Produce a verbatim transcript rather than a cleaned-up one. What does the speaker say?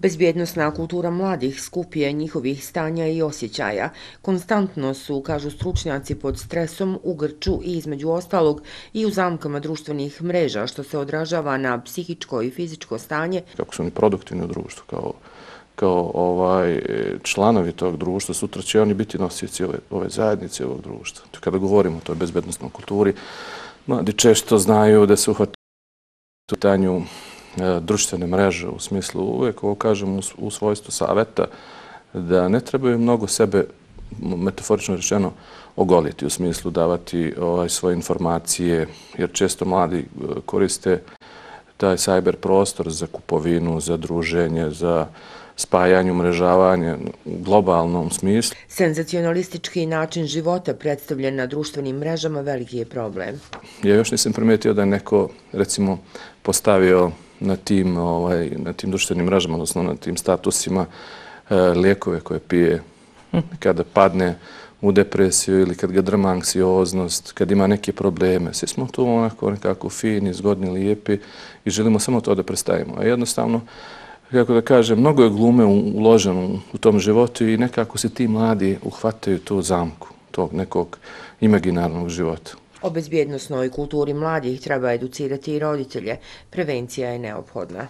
Bezbjednosna kultura mladih skup je njihovih stanja i osjećaja. Konstantno su, kažu stručnjaci, pod stresom, u grču i između ostalog i u zamkama društvenih mreža, što se odražava na psihičko i fizičko stanje. Kako su oni produktivni u društvu, kao, kao ovaj, članovi tog društva, sutra će oni biti nosioci ove, ove zajednice, ovog društva. Kada govorimo o toj bezbjednosnoj kulturi, mladi često znaju da se uhvataju u pitanju društvene mreže, u smislu uvijek, ovo kažem u svojstvu saveta, da ne trebaju mnogo sebe, metaforično rečeno, ogoliti, u smislu davati ovaj, svoje informacije, jer često mladi koriste taj cyber prostor za kupovinu, za druženje, za spajanje, umrežavanje u globalnom smislu. Senzacionalistički način života predstavljen na društvenim mrežama veliki je problem. Ja još nisam primetio da je neko, recimo, postavio na tim, ovaj, na tim društvenim mrežama, odnosno na tim statusima, e, lijekove koje pije kada padne u depresiju ili kad ga drma anksioznost, kad ima neke probleme. Svi smo tu onako nekako fini, zgodni, lijepi i želimo samo to da predstavimo. A jednostavno, kako da kažem, mnogo je glume uloženo u tom životu i nekako se ti mladi uhvataju tu zamku tog nekog imaginarnog života. O bezbjednosnoj kulturi mladih treba educirati i roditelje. Prevencija je neophodna.